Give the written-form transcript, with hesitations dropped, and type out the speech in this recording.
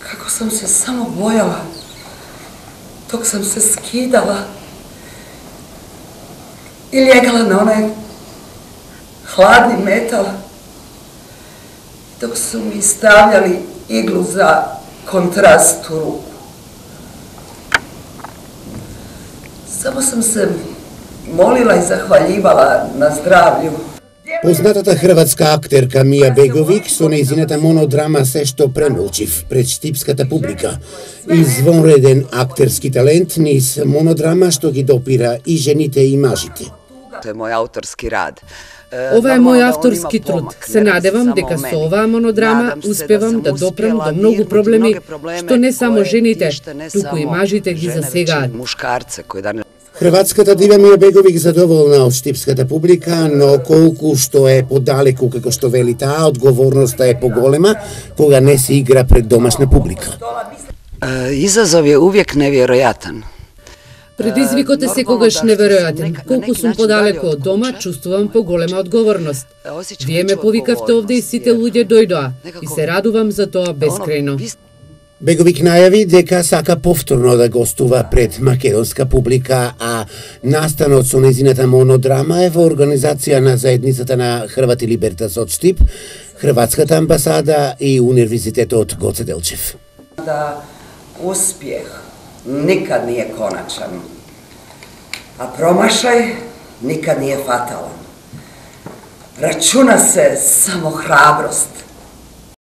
Како sam se samo bojala, dok sam se skidala i ljegala na onaj hladni metal, dok su mi stavljali iglu za kontrast u ruku. Samo sam se molila i zahvaljivala na zdravlju. Познатата хрватска актерка Мија Беговик со нејзината монодрама Се што премолчив пред штипската публика. Извонреден актерски талент низ монодрама што ги допира и жените и мажите. Тоа е мој авторски рад. Ова е мој авторски труд. Се надевам дека со оваа монодрама успевам да допрам до многу проблеми што не само жените, туку и мажите ги засегаат. Хрватската дива Мија Беговик задоволна од штипската публика, но колку што е подалеку како што вели таа, одговорноста е поголема кога не се игра пред домашна публика. Изазов е увек неверојатен. Предизвикот е секогаш неверојатен. Колку сум подалеку од дома, чувствувам поголема одговорност. Вие ме повикавте овде и сите луѓе дојдоа и се радувам за тоа бескрајно. Беговик најави дека сака повторно да гостува пред македонска публика, а настанот со нејзината монодрама е во организација на заедницата на Хрвати Либертас од Штип, Хрватската амбасада и Универзитетот Гоце Делчев. Da uspjeh nikad nije konačan, a promašaj nikad nije fatalan. Računa se samo hrabrost.